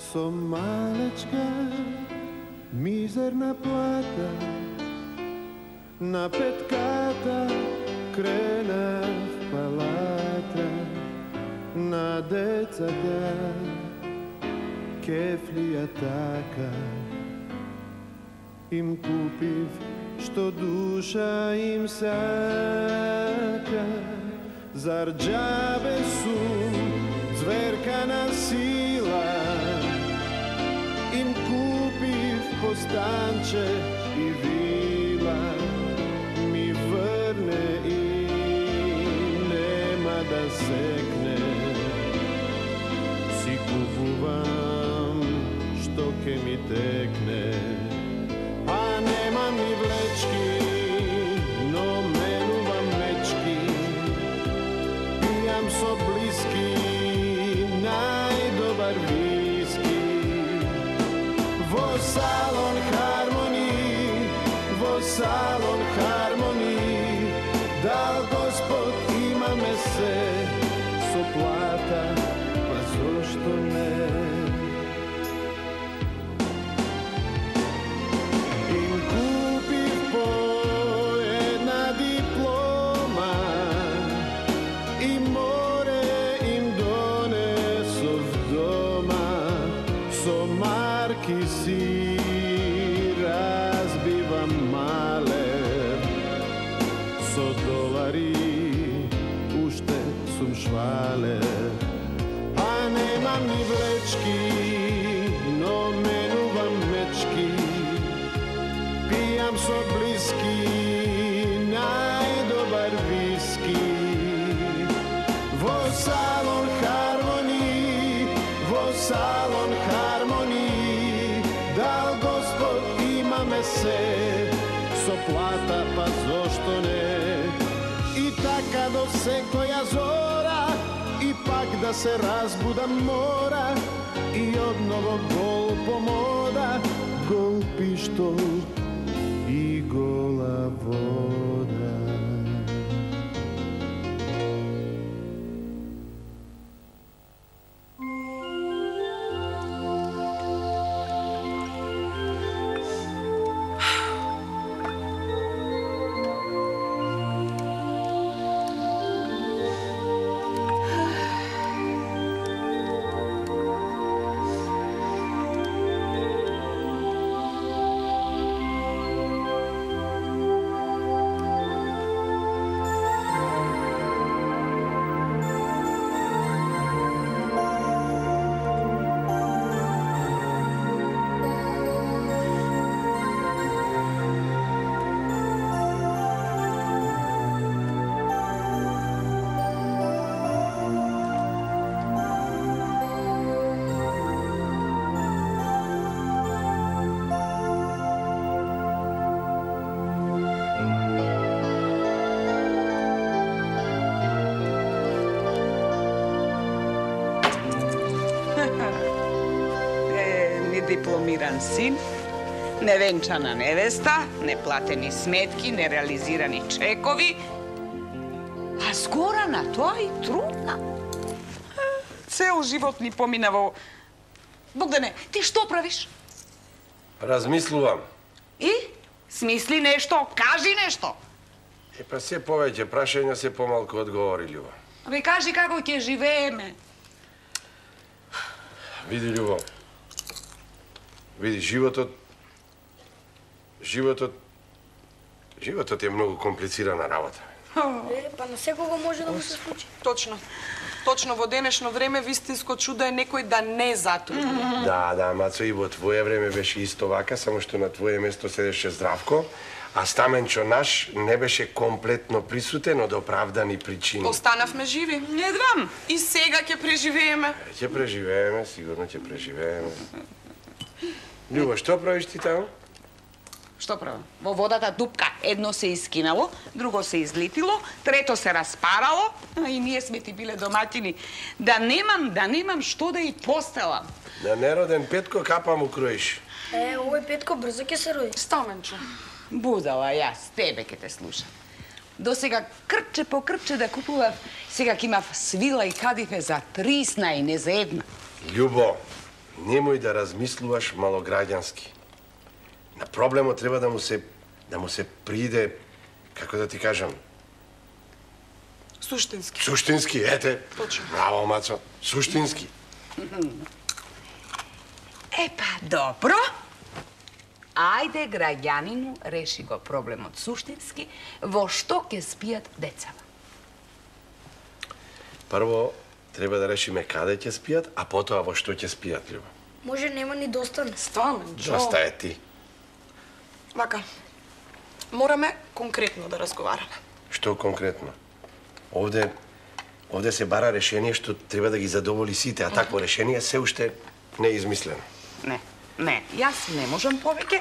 Со малечка, мизерна плата, на петката кренав палата, на децата кефлија така, им купив што душа им сака. Зар џабе сум зверка на сила, им купив постанче и вила, ми врне и нема да секне. Си купувам што ке ми текне, а нема ми влечки, но менувам мечки. Пијам со блиски најдобар виски. Во салон хармони, во салон хармони, дал Господ имаме се со плата, па зошто не? Им купив по една диплома и море им донесов дома. Со марки си разбивам малер, со долари уште сум швалер. А немам ни влечки, но менувам мечки. Пијам со блиски најдобар виски. Во салон хармони, во салон хармони, дал Господ имаме се со плата, па зошто не? И така до секоја зора, и пак да се разбудам мора, и одново гол помода, гол пиштол и гола вода. Дипломиран син, невенчана невеста, неплатени сметки, нереализирани чекови, а згорана тоа и трудна. Цел живот ни помина во... Богдане, ти што правиш? Размислувам. И? Смисли нешто, кажи нешто. Па се повеќе прашања, се помалку одговори, Љубо. Абе, кажи како ќе живееме. Види, Љубо, види, животот е многу комплицирана работа. Па на секого може да му се случи. Точно. Точно во денешно време вистинско чудо е некој да не затури. Да, Мацо, и во твое време беше исто вака, само што на твое место седеше Здравко, а Стаменчо наш не беше комплетно присутен од оправдани причини. Останавме живи. Не знам. И сега ќе преживееме. Ќе преживееме, сигурно ќе преживееме. Љубо, што правиш ти таму? Што правам? Во водата дупка едно се искинало, друго се излетило, трето се распарало, и ние сме ти биле доматини. Да немам што да и постелам. На нероден Петко капа му кроиш. Овој Петко брзо ќе се роди. Стаменчо. Будала, јас тебе ке те слушам. До сега крче по крче да купував, сега ќе имав свила и кадифе за 30 и не за една. Љубо, немој да размислуваш малограѓански. На проблемот треба да му се приде, како да ти кажам, Суштински. суштински, ете. Точно. Браво, Мацо, суштински. Епа, добро. Ајде, граѓанину, реши го проблемот суштински, во што ќе спијат децава. Прво, треба да решиме каде ќе спијат, а потоа во што ќе спијат, Љубо. Може нема ни достан. Стварно, Доста е ти. Вака, мораме конкретно да разговараме. Што конкретно? Овде се бара решение што треба да ги задоволи сите, а такво решение се уште не е измислено. Не, јас не можам повеќе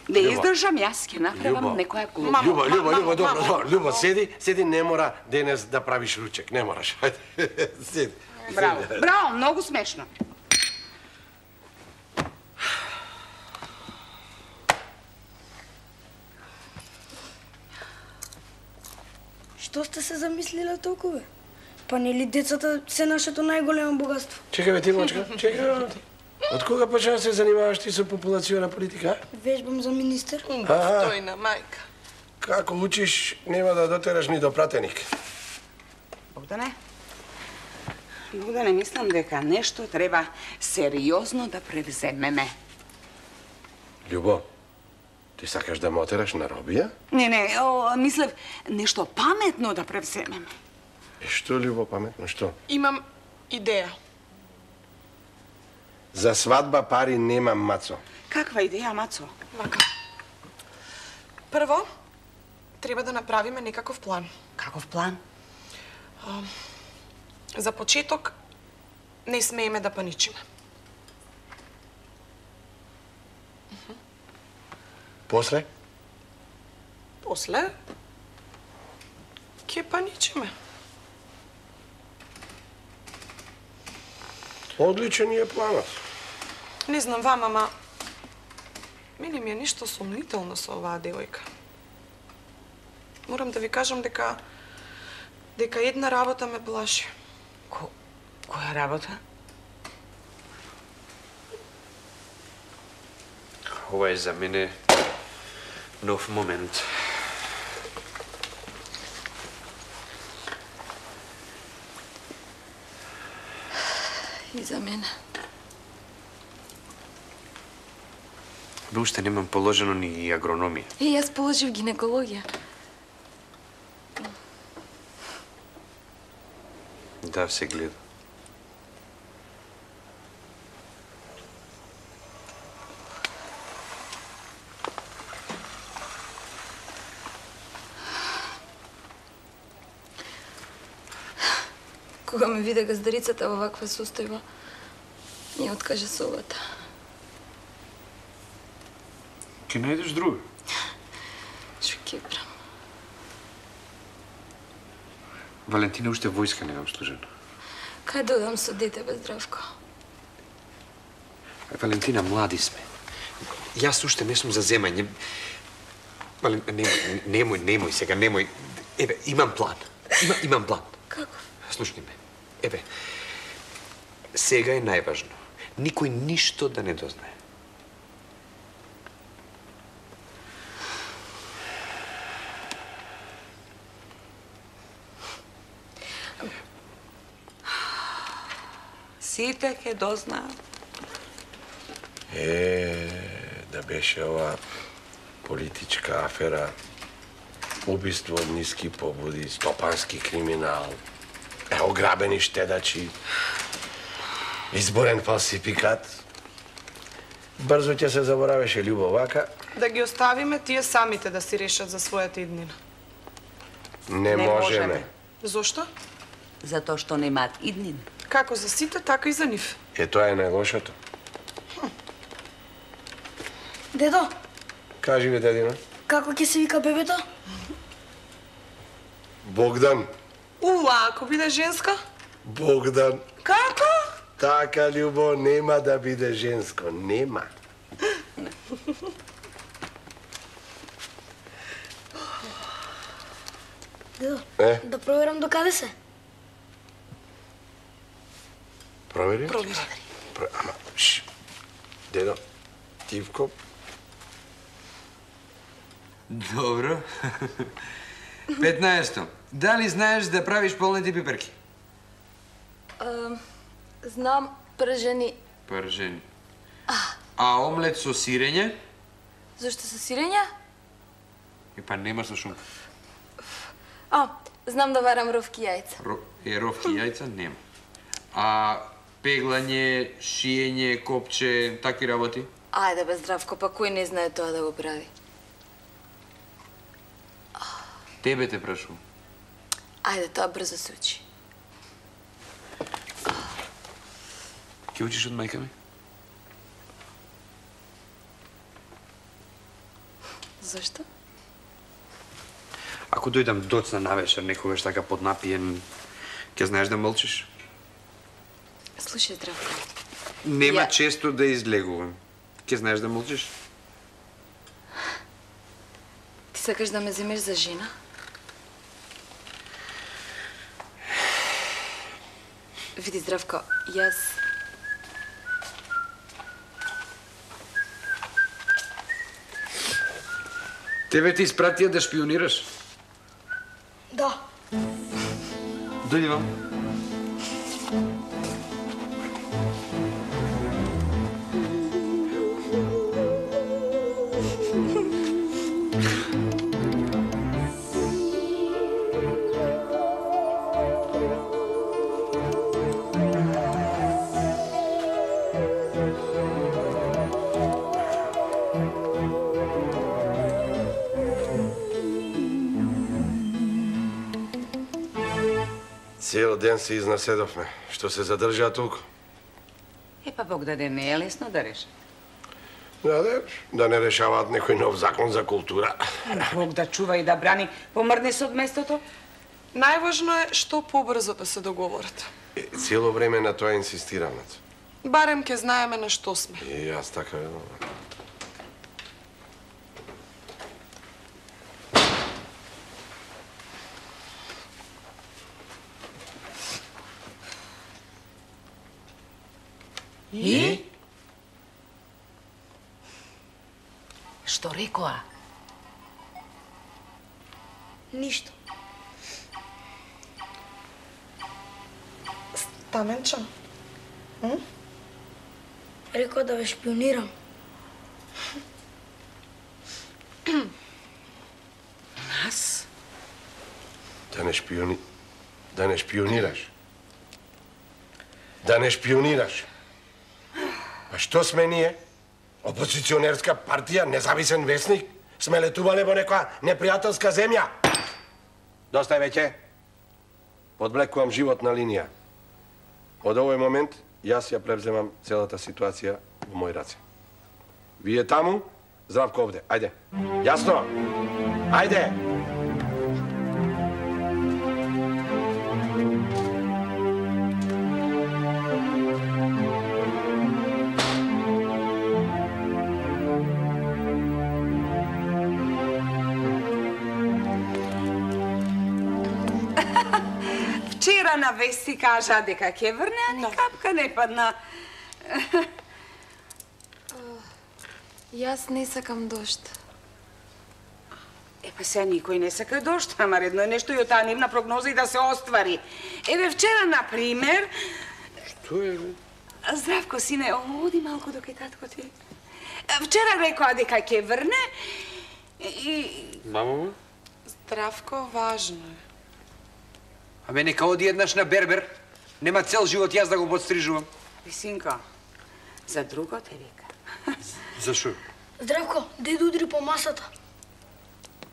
да издржам, јас ќе направам некоја глупа. Љубо, добро, Љубо, седи, не мора денес да правиш ручек, не мораш. Ајде, седи. Браво, многу смешно. Што сте се замислиле толку, бе? Па нели децата се нашето најголемо богатство? Чекај, бе, ти, мачка, чекај. Од кога почна да се занимаваш ти со популациона политика? Вежбам за министер. Тојна мајка. Како учиш, нема да дотераш ни до пратеник. Богдане, мислам дека нешто треба сериозно да превземеме. Љубо, ти сакаш да ме отераш на робија? Не, мислев нешто паметно да превземеме. Што, Љубо, паметно, што? Имам идеја. За свадба пари немам, Мацо. Каква идеја, Мацо? Вака. Прво, треба да направиме некаков план. Каков план? За почеток, не смееме да паничиме. После? После, ќе паничиме. Одличен е планот. Не знам вам, ама мене ми е нешто сомнително со оваа девојка. Морам да ви кажам дека една работа ме плаши. Која работа? Ова е за мене нов момент. И за мене. Бе, уште немам положено ни агрономија. Јас положив гинекологија. Да, се гледа. Кога ме виде газдарицата во ваква состојба, ми откажа совата. Ке најдеш друга. Што ќе правам? Валентина уште војска немам служена. Кај додам со дете без Здравко? Валентина, млади сме. Јас уште не сум за земање. Немој сега, немој. Еве, имам план. Имам план. Како? Слушни ме. Еве, сега е најважно. Никој ништо да не дознае. Сите ќе дознаат. Да беше ова политичка афера, убиство од ниски побуди, стопански криминал, ограбени штедачи, изборен фалсификат. Брзо ќе се заборавеше, Љубо, вака. Да ги оставиме тие самите да си решат за својата иднина. Не можеме. Зошто? Затоа што немаат иднин. Како за сите, така и за нив. Тоа е најлошото. Дедо, Кажи бе, дедина. како ќе се вика бебето? Богдан. Ако биде женска? Богдан. Како? Така, Љубо, нема да биде женско. Нема. Дедо, Да проверам до каде се. Провери? Провери. Ама, Дедо, Тивко. Добро. 15. Дали знаеш да правиш полнети пиперки? Знам пржени. Пржени. А омлет со сирење? Зошто со сирење? Па нема со шунка. Знам да варам ровки јајца. Ровки јајца нема. А пеглање, шиење, копче, такви работи? Ајде бе, Здравко, па кој не знае тоа да го прави? Тебе те прашувам. Ајде, тоа брзо се учи. Ке учиш од мајка ми? Зошто? Ако дојдам доцна навечер, некогаш така поднапиен, ќе знаеш да мълчиш? Слушај, Здравко. Нема често да излегувам. Ќе знаеш да мълчиш? Ти сакаш да ме земеш за жена? Види, Здравко, јас... Тебе ти испратија да шпионираш? Да. Дојди вам. Цел ден се изнаседовме. Што се задржаа толку? Па Бог даде, не е лесно да реши. Да не решаваат некој нов закон за култура. Бог да чува и да брани, помрне се од местото. Најважно е што побрзо да се договорат. Цело време на тоа инсистирам. Барем ке знаеме на што сме. И јас така ведам. И? Што рекоа? Ништо. Стаменчо? Рекоа да ве шпионирам. Нас? Да не шпионираш. Да не шпионираш. А што сме ние? Опозиционерска партија, независен весник? Сме летувале во некоја непријателска земја? Доста е веќе. Подблекувам животна линија. Од овој момент, јас ја превземам целата ситуација во мој раце. Вие таму, Здравко овде. Ајде. Јасно? Ајде! Вчера на вести кажа дека ќе врне, а ни капка не падна. Јас не сакам дожд. Па сега никој не сака дожд, ама редно е нешто и од таа нивна прогноза и да се оствари. Еве вчера, например... Што е? Здравко, сине, оди малку до кај татко ти. Вчера рекоа дека ќе врне и... Мамо? Здравко, важно е. Абе, нека оди еднаш на бербер. Нема цел живот јас да го подстрижувам. Синко, за друго те вика. Зашо? Здравко, дедо удри по масата.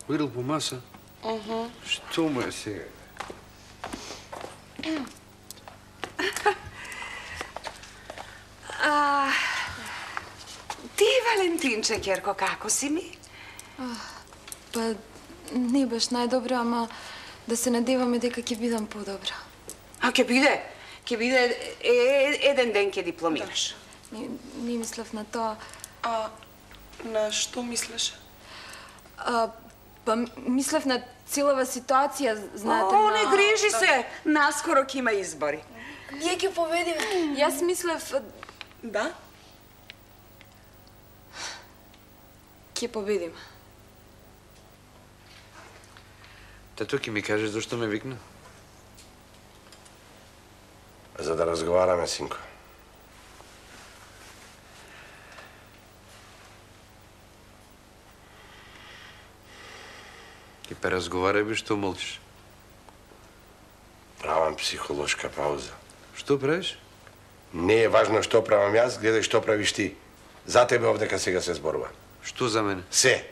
Удрил по маса? Што му е сега? Ти, Валентинче, Керко, како си ми? Па, не баш најдобро, ама да се надеваме дека ќе бидам подобра. А ќе биде еден ден ќе дипломираш. Не мислев на тоа. А на што мислеше? Па мислев на целава ситуација, знаете, О, не грижи се, наскоро ќе има избори. Ние ќе победиме. Јас мислев... Да? ќе победим. Тато ќе ми каже зашто ме викна? За да разговараме, синко. Ке пе разговарај бе, што молчиш? Правам психолошка пауза. Што правиш? Не е важно што правам јас, гледај што правиш ти. За тебе овдека сега се зборува. Што за мене? Се.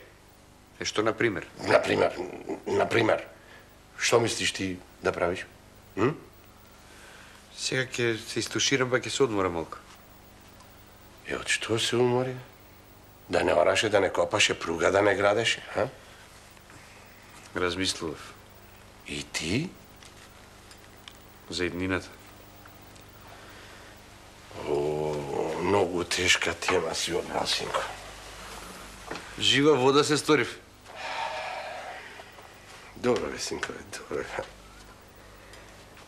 Што, например? Например. Што мислиш ти да правиш? Сега ќе се истуширам, па ќе се одмора малку. Од што се умори? Да не ораше, да не копаше, пруга да не градеше, а? Размислував. И ти? За иднината. Многу тешка тема си одбрал, синко. Жива вода се сторив. Добро бе, синко, добро.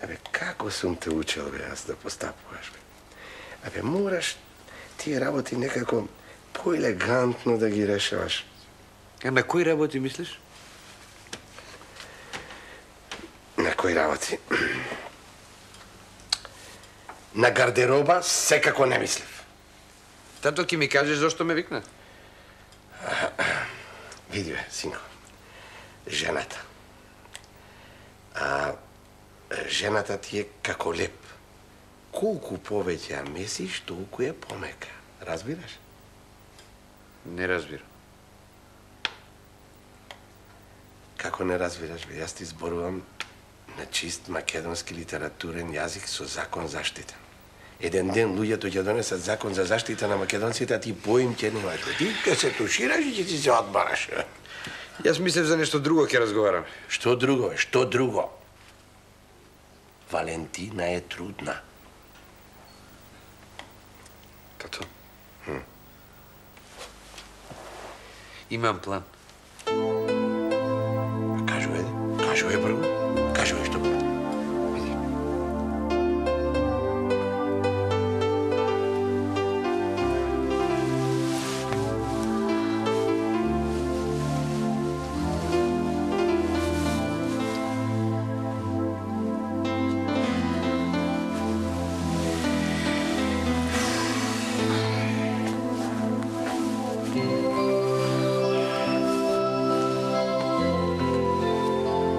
Абе, како сум те учел, бе, јас да постапуваш, бе? Абе, мораш тие работи некако поелегантно да ги решаваш. А на кои работи мислиш? На кои работи? На гардероба секако не мислев. Тато ќе ми кажеш зашто ме викна? Види бе, синко, жената. Жената ти е како леп. Колку повеќе ја месиш, толку е помека. Разбираш? Не разбирам. Како не разбираш, бе? Јас ти зборувам на чист македонски литературен јазик со закон заштитен. Еден ден луѓето ќе донесат закон за заштита на македонците, а ти поим ќе немаш. Ти ќе се тушираш и ќе ти се одбараш. Јас мислев за нешто друго ќе разговарам. Што друго? Што друго? Валентина е трудна. Тато? Имам план. Кажувај прво. Кажувај што. Види.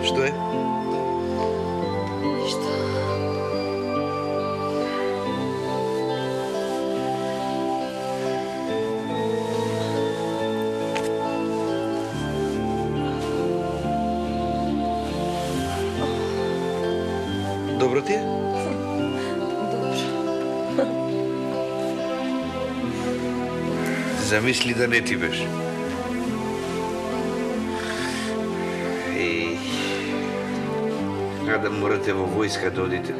Што е? Ништо. Добро ти е? Добро. Замисли да не ти беше. Да морате во војска да одите.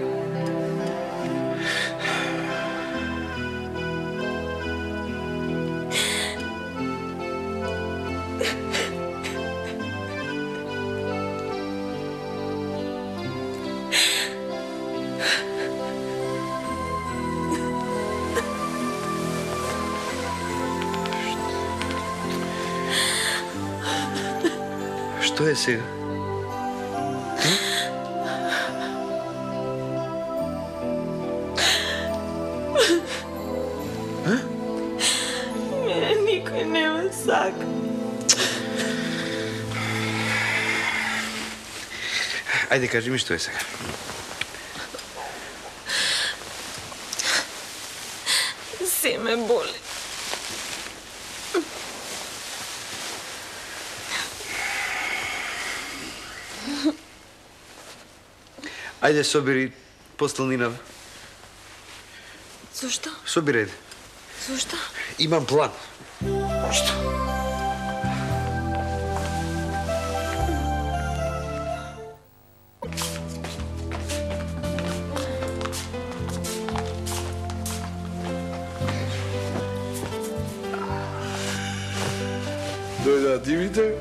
Што е сега? Никој нема сака. Ајде, кажи ми што е сега. Се ме боли. Ајде, собери постелнинава. Зошто? Собирај. Зошто? Имам план. Што? Дојдаа дивите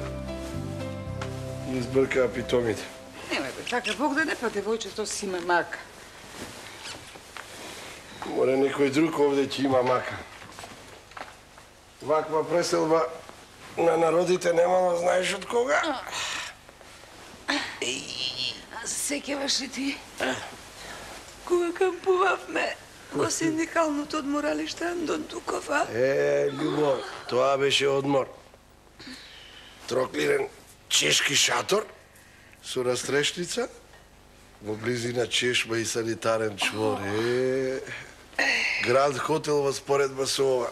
и избркаа питомите. Нема бе, така Бог да не па девојчето си има мака. Море некој друг овде ќе има мака. Ваква преселба на народите немало знаеш од кога? Сеќаваш ли ти? Кога кампувавме во синдикалното одморалиште Андон Дуков, а? Љубо, тоа беше одмор. Троклирен чешки шатор со растрешница, во близина чешма и санитарен чвор. Гранд хотел во споредба со ова.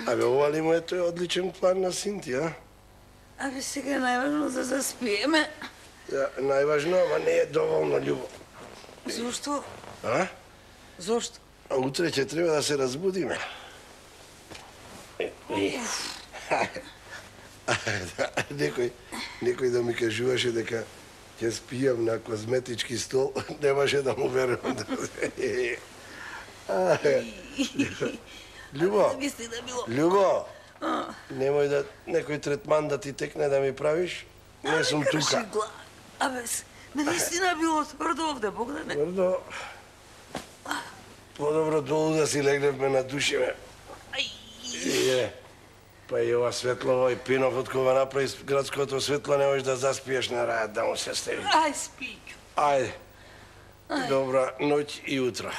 Абе, ова ли му е тој одличен план на Синти, а? Абе, сега најважно да заспиеме. Да, најважно, ама не е доволно, љубо. Зошто? А? Зошто? А утре ќе треба да се разбудиме. Некој да ми кажуваше дека ќе спијам на козметички стол, немаше да му верувам. Љубо, немој да некој третман да ти текне да ми правиш, не сум тука. Абе, наистина било тврдо овде, Богдане. Тврдо? Подобро долу да си легневме на душиме. Па и ова светло, овој пинов од кога направи градското светло, не можеш да заспиеш на рајат, да му се стеви. Ај, спи. Ајде. Добра ноќ и утро.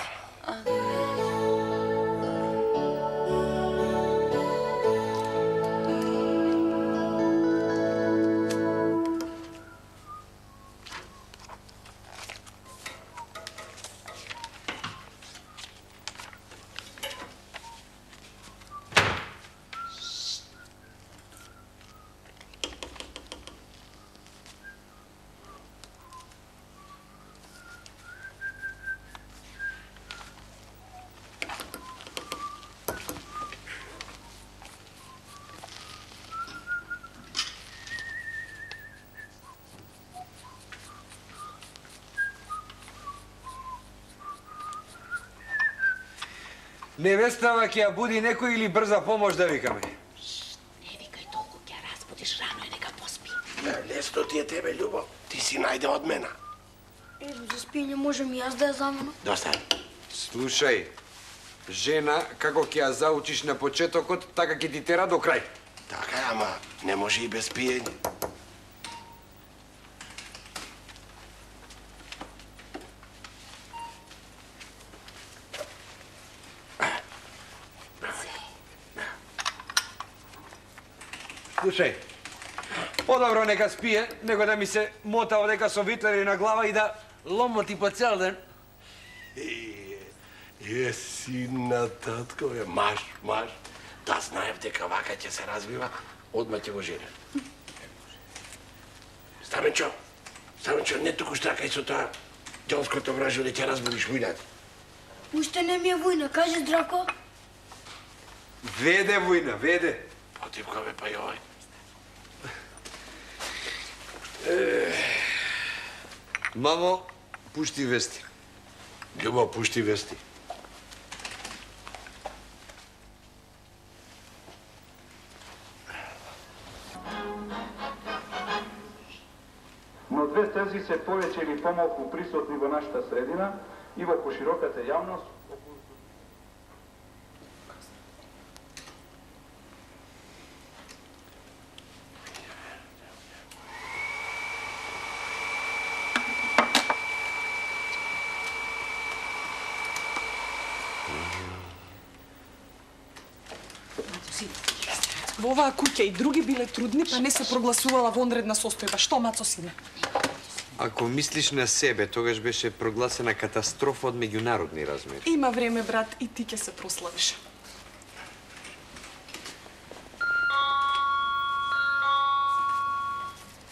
Невестава ќе ја буди некој или брза помош да викаме? Не викај толку, ќе ја разбудиш рано и нека поспи. Лесно ти е тебе, љубо. Ти си најде од мена. За спиење можем и јас да ја заменам. Доста. Слушај, жена, како ќе ја заучиш на почетокот, така ќе ти тера до крај. Така е, ама не може и без пиење. Слушај, подобро нека спие, него да ми се мота одека со витлери на глава и да ломоти по цел ден. Сина, татко, маш. Да знаев дека вака ќе се развива, одма ќе го жене. Стаменчо, не туку штракај со тоа ѓолското вражо да ќе разбудиш војната. Уште не ми е војна, кажи Здрако. Веде војна, веде. Потипкаве па и овој. Мамо, пушти вести. Љубо, пушти вести. Но две тези се повеќе или помалку присутни во нашата средина и во пошироката јавност. Во оваа куќа и други биле трудни, па не се прогласувала вонредна состојба. Што, мацо сине? Ако мислиш на себе, тогаш беше прогласена катастрофа од меѓународни размери. Има време, брат, и ти ќе се прославиш.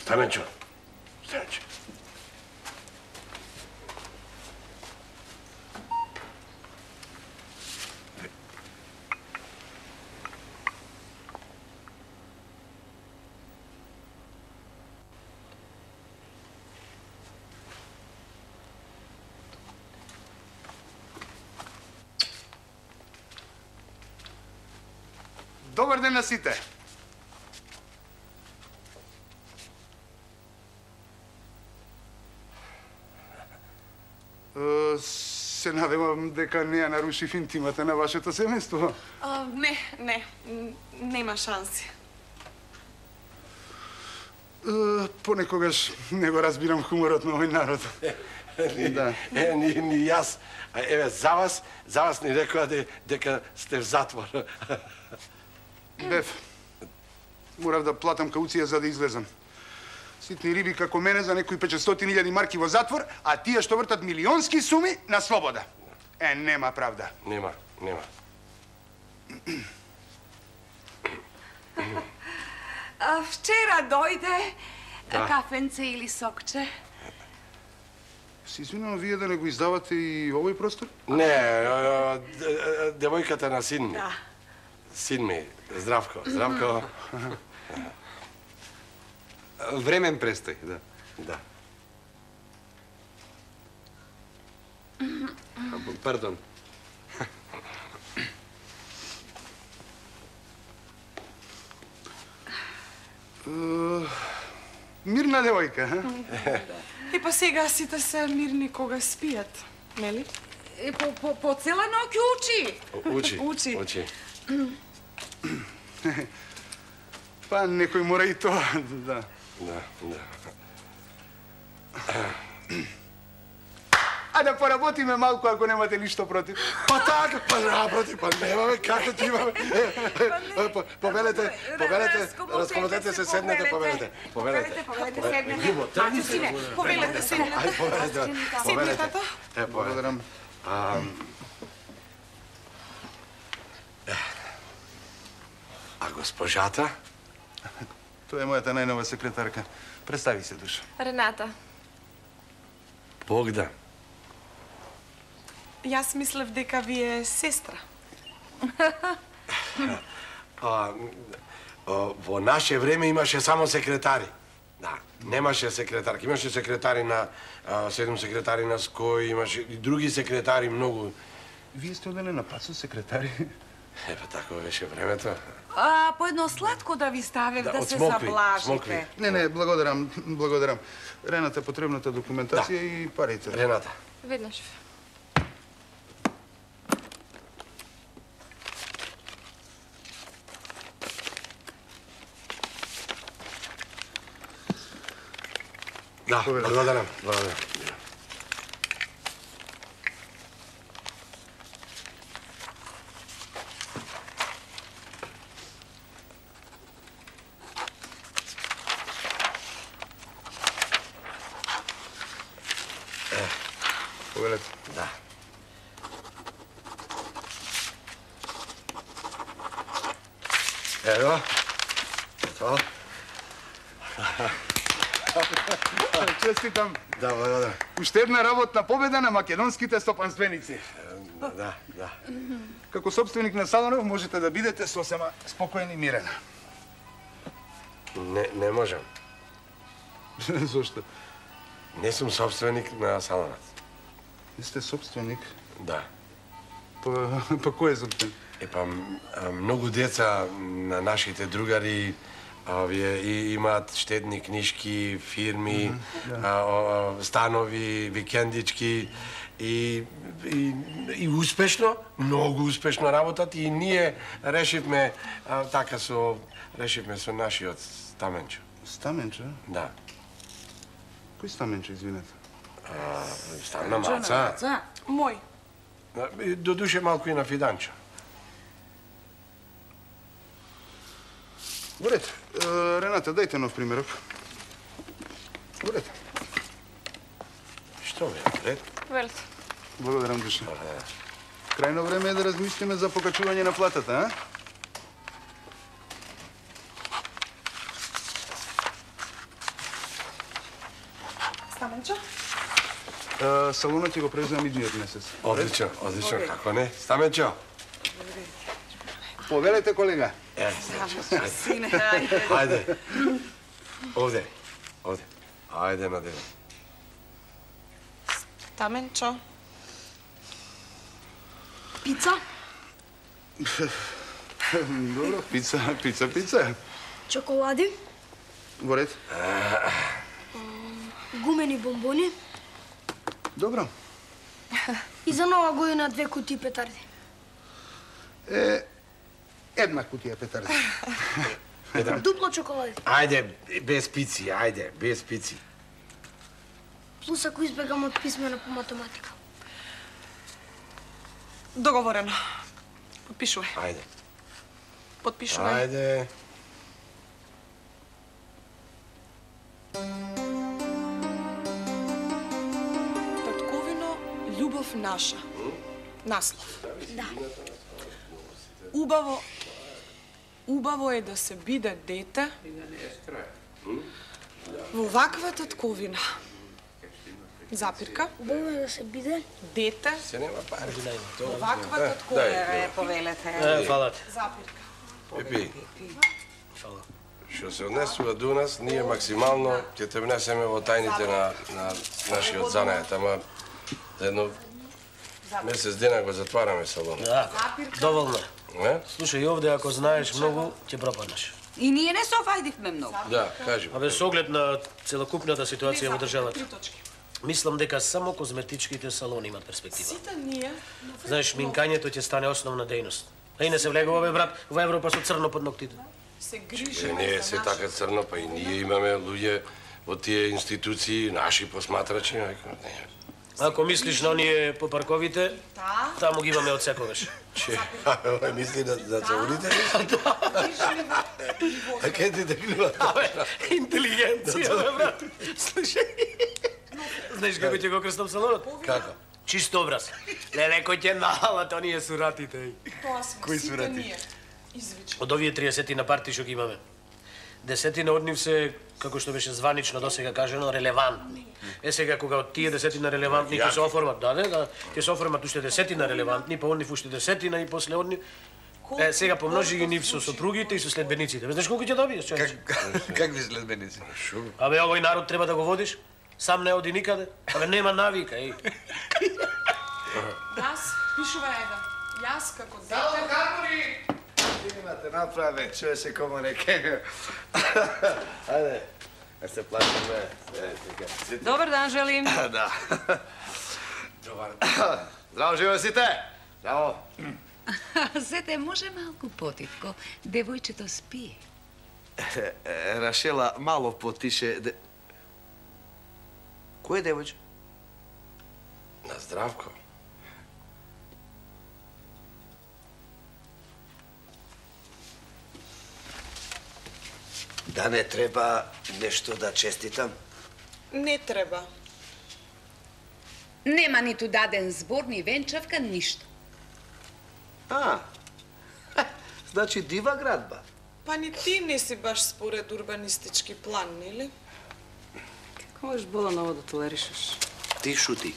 Стаменчо. Добар ден на сите. Се надевам дека не ја нарушив интимата на вашето семејство. Не, нема шанси. Понекогаш не го разбирам хуморот на овој народ. Да. Ни јас. Еве, за вас ни рекоа дека сте в затвор. Бев, морав да платам кауција за да излезам. Ситни риби како мене за некои 500.000 марки во затвор, а тие што вртат милионски суми на слобода. Нема правда. Нема. Вчера дојде кафенце или сокче? Се извинувам, вие да не го издавате и овој простор? Не, девојката на син ми. Син ми, Здравко. Времен престој, да. Да. Пардон. Мирна девојка, И па сега сите се мирни кога спијат, нели? По цела ноќ учи. Учи. Па некој мора и тоа, да. Да. А да поработиме малку ако немате ништо против. Па така, па напротив, па немаме како ти имаме. Повелете, разководете се, седнете, повелете. Седнете. Повелете, седнете. Седни, тато. Благодарам. А госпожата? Тоа е мојата најнова секретарка. Представи се, Душа. Рената. Богдан. Јас мислев дека ви е сестра. Во наше време имаше само секретари. Да, немаше секретарки. Имаше секретари на 7 секретари на СКОИ, имаше и други секретари многу. Вие сте оделе на пат со секретари? Епа тако беше времето. По едно сладко да ви ставев, да се смокви. заблажите. Не, благодарам. Рената потребната документација и парите. Рената. Веднаш. Да, благодарам. Повелете. Да. Ево. Тоа. Честитам. Да, благодарам. Уште една работна победа на македонските стопанственици. Да. Како собственик на салонов можете да бидете сосема спокоен и мирен. Не можам. Зошто? Не сум собственик на салонот. Не сте собственик? Да. Па кој е собственик? Епа, многу деца на нашите другари имаат штедни книжки, фирми, станови, викендички и успешно, многу успешно работат и ние решивме со нашиот Стаменчо. Стаменчо? Да. Кој Стаменчо, извинете? Стана Маца. Мој. До душе малку и на Фиданчо. Во ред. Рената, дајте нов примерок. Во ред. Што бе, ред? Велите. Благодарам, Душа. Крајно време е да размислиме за покачување на платата, а? Стаменчо? Салонот ќе го преземам идниот месец. Одлично, како не? Стаменчо? Повелете, колега. Сине, ајде. Ајде. Овде. Ајде на дело. Стаменчо? Пица? Добро, пица. Чоколади? Во ред. Гумени бомбони? Добро. И за нова година 2 кутии петарди. Една кутија петарди. Дупло чоколади. Ајде, без пици, ајде, без пици. Плюс ако избегам од писмена по математика. Договорено. Подпишувај. Ајде. Подпишувај. Ајде. Татковино, љубов наша. Наслов. Да. Убаво е да се биде дете во ваква татковина. Запирка. Убаво е да се биде дете Се нема пари. во ваква татковина. Повелете. Фала. Запирка. Пепи. Што се однесува до нас, ние максимално ќе те внесеме во тајните на нашиот занајат, ама за едно месец дена го затвараме салонот. Да, доволно. Не? Слушај, овде ако знаеш многу, ќе пропаднеш. И ние не се офајдивме многу. Да, кажи. Абе, со оглед на целокупната ситуација во државата, 3 точки. мислам дека само козметичките салони имат перспектива. Сите ние... Знаеш, минкањето ќе стане основна дејност. А и не се влегува, бе, брат, во Европа со црно под ноктите. се Е, грижиме не е за се нашите... така црно, па и ние имаме луѓе во тие институции, наши посматрачи. Не. Ако мислиш на оние по парковите, Да. таму ги имаме од секогаш. Че, овој мисли за целулите? А ке ти текнува? Абе, интелигенција, бе, брат. Слушај. Знаеш како ќе го крстам салонот? Како? Чист образ. Леле, кој ќе налат оние суратите. Тоа сме Кои сите сурати? ние. Извичи. Од овие 30 на парти што ги имаме, 10 од нив се, како што беше званично досега кажано, релевантни. Е сега кога од тие 10 релевантни ќе се оформат, да, ќе се оформат уште 10 релевантни, па од нив уште 10 и после од нив. Е, сега помножи ги нив со сопругите и со следбениците. Знаеш колку ќе добиеш, човече? Какви следбеници? Абе, овој народ треба да го водиш. Сам не оди никаде. Абе, нема навика, еј. Јас, пишувај еден. Јас како дете... Сало, Карбори! Имате направе, чуе се комо реке. Ајде, да се плашиме. Добар дан желим. Да. Здраво, живе сите! Здраво. Зете, може малку потивко? Девојчето спие. Рашела, мало потише. Кој е девојче? На здравко. Да не треба нешто да честитам? Не треба. Нема ниту даден збор, ни венчавка, ништо. Значи дива градба. Па ни ти не си баш според урбанистички план, нели? Како можеш Боланово да толеришеш? Ти шути.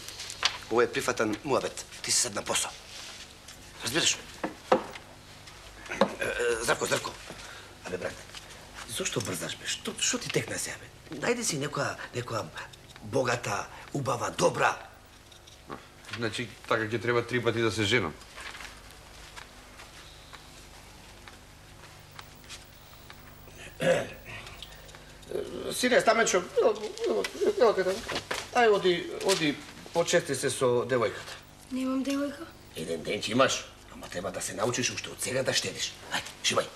Ово е прифатан муабет. Ти си сад на посо. Разбираш? Здравко. Абе, брат, зошто брзаш, бе? Што ти текна сега, бе? Најди си некоја богата, убава, добра. Значи, така ќе треба 3 пати да се женам. Сине, Стаменчо, ево кај ај, оди, почести се со девојката. Немам девојка. Еден ден ќе имаш, ама треба да се научиш уште од сега да штедиш. Ајде, шибај.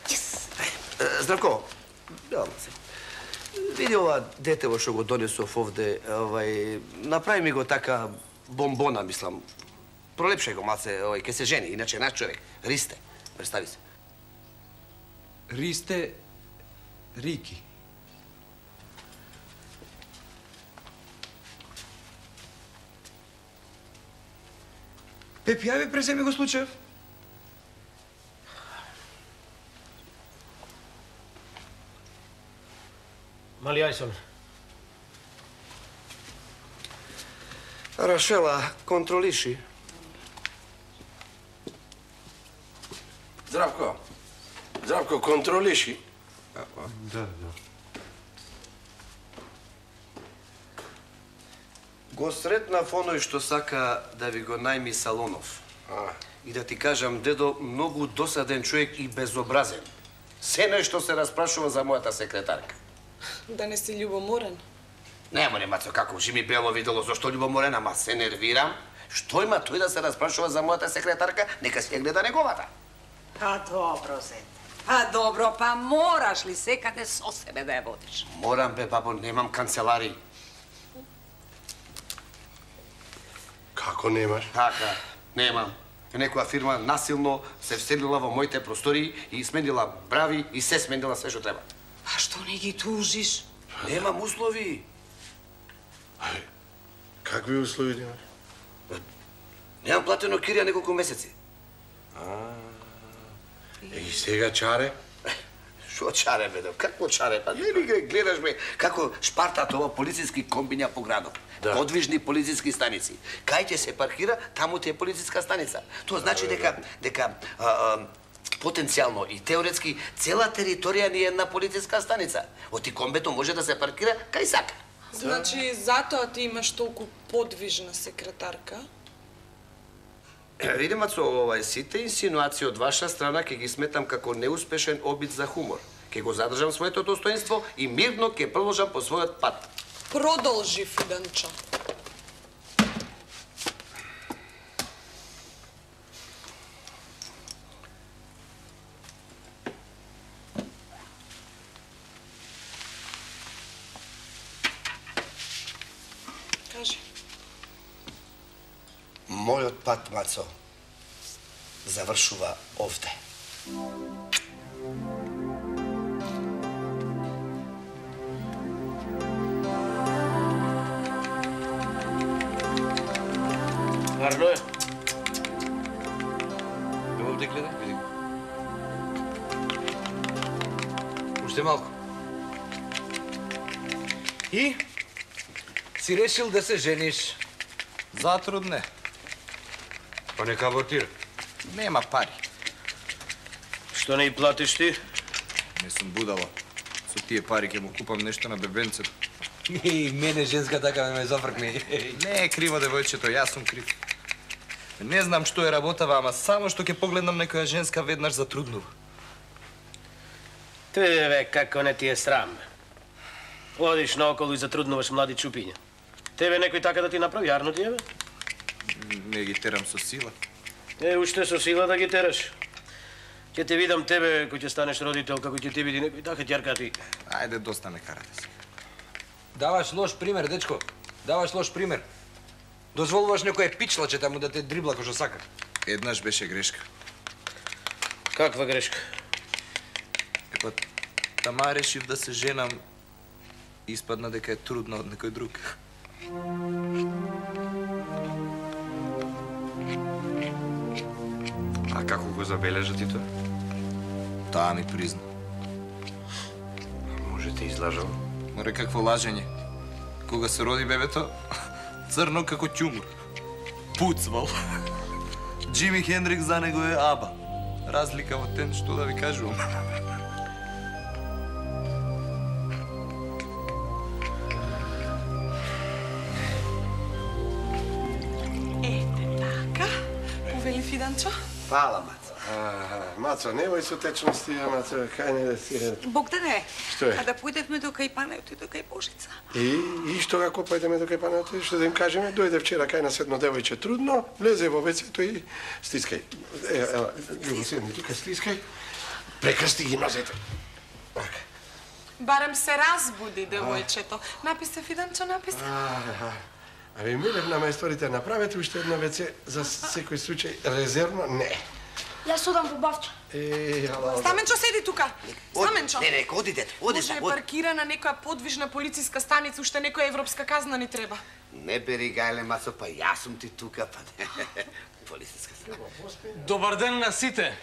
Здравко, реално се. Види ова детево што го донесов овде, направи ми го така бомбона, мислам. Пролепшај го малце, ке се жени, иначе наш човек. Ристе, представи се. Ристе Рики. Пепи, ајде преземи го случаев. Мали Ајсон. Рашела, контролиши. Здравко, контролиши. Да. Го сретнав оној што сака да ви го најми Салонов. И да ти кажам, дедо, многу досаден човек и безобразен. Се нешто се распрашува за мојата секретарка. Да не си љубоморен. Нема, Мацо, како Жими Бело видело, зашто љубоморен, ама се нервирам. Што има тој да се распрашува за мојата секретарка, нека си ја гледа неговата. Па добро, зете. Па добро, па мораш ли секаде со себе да ја водиш? Морам, бе, бабо, немам канцеларии. Како немаш? Така, немам. Некоја фирма насилно се вселила во моите простории и сменила брави и се сменила све што треба. А што не ги тужиш? Немам услови. Какви услови немаш? Немам платено кирија неколку месеци. И сега чаре? Шо чаре, бе, какво чаре? Па не ли гледаш, бе, како шпартат ова полициски комбиња по градот. Да. Подвижни полициски станици. Кај ќе се паркира, таму ти е полициска станица. Тоа значи дека потенцијално и теоретски цела територија ни е една полициска станица. Оти комбето може да се паркира кај сака. Значи, затоа ти имаш толку подвижна секретарка? Види, Мацо, сите инсинуации од ваша страна ќе ги сметам како неуспешен обид за хумор. Ќе го задржам своето достоинство и мирно ќе продолжам по својот пат. Продолжи, Фиданчо. Кажи. Мојот пат, Мацо, завршува овде. Варно е. Ево овде гледај, види го. Уште малку. И? Си решил да се жениш? Затрудне. Па нека абортира. Нема пари. Што не и платиш ти? Не сум будала. Со тие пари ќе му купам нешто на бебенцето. И мене женска така ме зафркне. Не е криво девојчето, јас сум крив. Не знам што е работава, ама само што ќе погледнам некоја женска веднаш затруднува. Тебе, како не ти е срам. Одиш наоколу и затруднуваш млади чупиња. Тебе некој така да ти направи, јарно ти е, бе? Не ги терам со сила. Уште со сила да ги тераш. Ќе те видам тебе, кој ќе станеш родител, како ќе ти види некој така ќерка ти. Ајде, доста ме карате се. Даваш лош пример, дечко. Даваш лош пример. Дозволуваш некој пичлаче таму да те дрибла кој што сака. Еднаш беше грешка. Каква грешка? Епа, тама решив да се женам и испадна дека е трудна од некој друг. А како го забележа ти тоа? Таа ми призна. Може те излажал? Море, какво лажење. Кога се роди бебето, црно како ќумур. Пуцвал. Джими Хендрик за него е Аба. Разлика во тен, што да ви кажувам. Ете така. Повели Фиданчо? Фала, Мацо. Мацо, невој со течности, Мацо, кај не да си... Богдане, Што е? а да појдевме до кај Панеото и до кај Божица. И што како појдеме до кај Панеото, што да им кажеме, дојде вчера кај нас едно девојче трудно, влезе во вецето и стискај. Ева, Љубо, седни тука, стискај. Прекрсти ги нозете. Барем се разбуди, девојчето. Написе, Фиданчо, написе. Аби милев на мајсторите, направете уште едно веце за секој случај резервно, не. Јас одам по бавча. Стаменчо, седи тука. Стаменчо. Не, одите. Може е паркирана некоја подвижна полициска станица, уште некоја европска казна ни треба. Не бери гајле, Мацо, па јас сум ти тука, па не. Полициска станица. Добар ден на сите.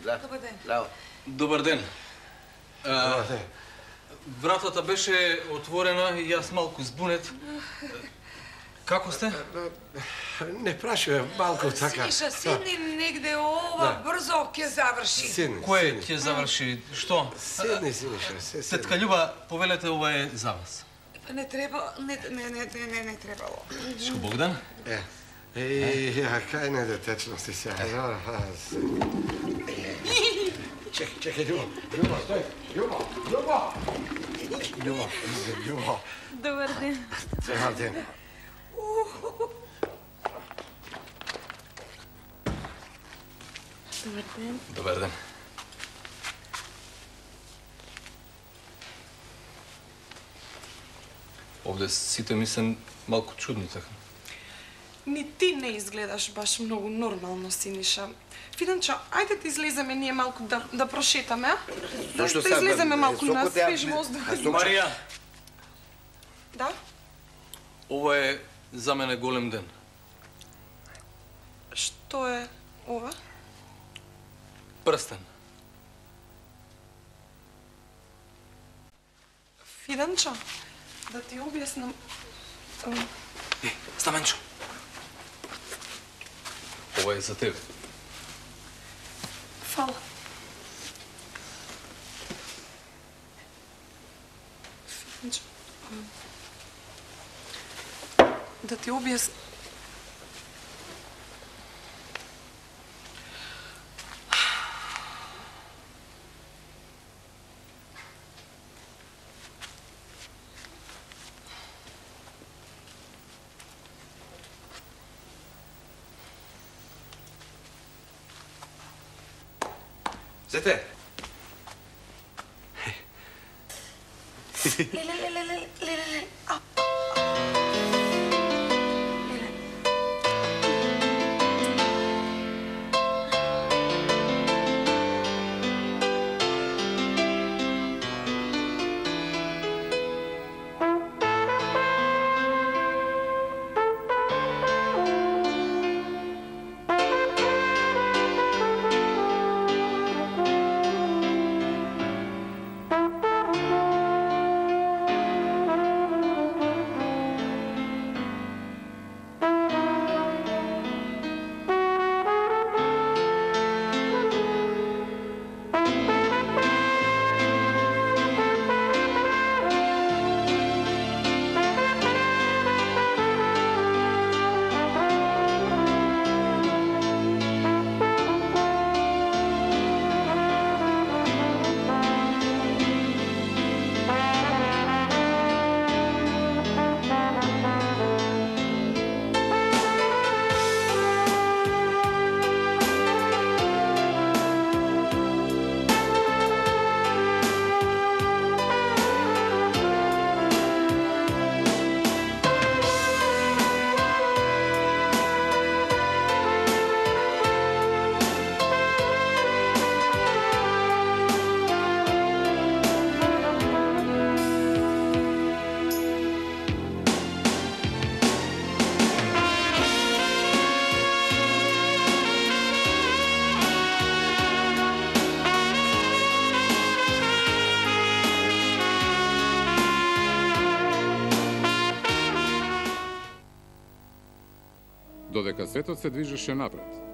Добар ден. Браво. Добар ден. Вратата беше отворена и јас малку збунет. Како сте? Не прашувам, малку така. Сиша, седни негде, ова брзо ќе заврши. Седни. Кој ќе заврши? Што? Седни, Сиша, се седни. Тетка Љуба, повелете, ова е за вас. Па не треба, не требало. Шко Богдан? Кај не детечности сега. Чекај, Љубо, стој. Љубо. Добар ден. Добар ден. Добар ден. Добар ден. Овде сите ми се малку чудни така. Ни ти не изгледаш баш многу нормално, Синиша. Фиданчо, ајде да излеземе ние малку да прошетаме, а? Зошто да сега? излеземе малку на Сокот ја- свеж воздух. Марија, Да? ова е за мене голем ден. Што е ова? Прстен. Фиданчо, да ти објаснам... Стаменчо. Ова е за тебе. Фала. Фиданчо, да ти објаснам... Зете! Леле. Додека светот се движеше напред,